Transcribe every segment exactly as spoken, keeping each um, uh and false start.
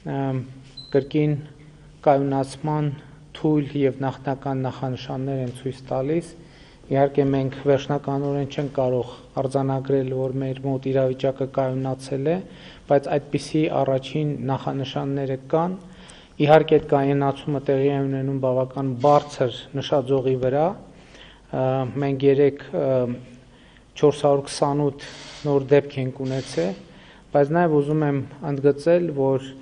կրկին կայունացման թույլ և նախնական նախանշաններ են ցույց տալիս։ Իհարկե մենք վերջնականորեն չենք կարող արձանագրել, որ մեր մոտ իրավիճակը կայունացել է, բայց այդպիսի առաջին նախանշանները կան։ Իհարկե այդ կայունացումը տեղի է ունենում բավական բարձր նշաձողի վրա։ Մենք երեկ չորս հարյուր քսանութ նոր դեպք ենք ունեցել, բայց նաև ուզում եմ ընդգծել, որ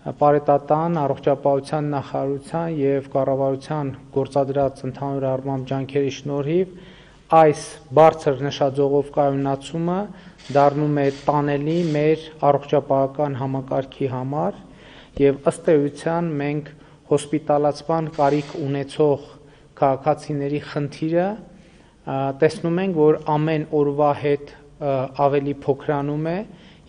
Պարետատան, Առողջապահության նախարարության և կառավարության գործադրած ընդհանուր առմամբ ջանքերի շնորհիվ այս բարձր նշաձողով կայունացումը դառնում է տանելի մեր առողջապահական համակարգի համար, և ըստ էության մենք հոսպիտալացման կարիք ունեցող քաղաքացիների խնդիրը տեսնում ենք, որ ամեն օրվա հետ ավելի փոքրանում է,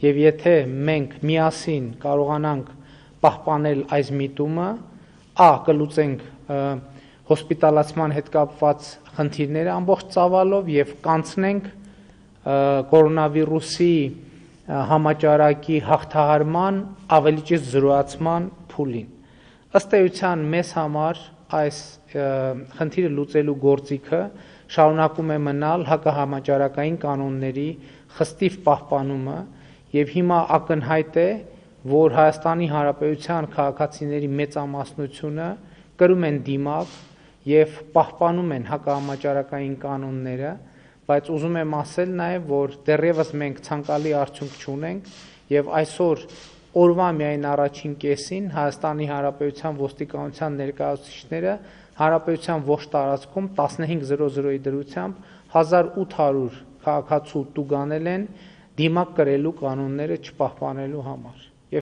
և եթե մենք միասին կարողանանք պահպանել այս միտումը, ա. կլուծենք հոսպիտալացման հետ կապված խնդիրները ամբողջ ծավալով և կանցնենք կորոնավիրուսի համաճարակի հաղթահարման, ավելի ճիշտ զրոյացման փուլին։ Ըստ էության մեզ համար այս խնդիրը լուծելու գործիքը շարունակում է մնալ հակահամաճարակային կանոնների խստիվ պահպանումը, և հիմա ակնհայտ է, որ Հայաստանի Հանրապետության քաղաքացիների մեծամասնությունը կրում են դիմակ և պահպանում են հակահամաճարակային կանոնները, բայց ուզում եմ ասել նաև, որ դեռևս մենք ցանկալի արդյունք չունենք, և այսօր օրվա միայն առաջին կեսին Հայաստանի Հանրապետության ոստիկանության ներկայացուցիչները հանրապետության ողջ տարածքում տասնհինգ զրո զրոյի դրությամբ հազար ութ հարյուր քաղաքացու տուգանել են դիմակ կրելու կանոնները չպահպանելու համար։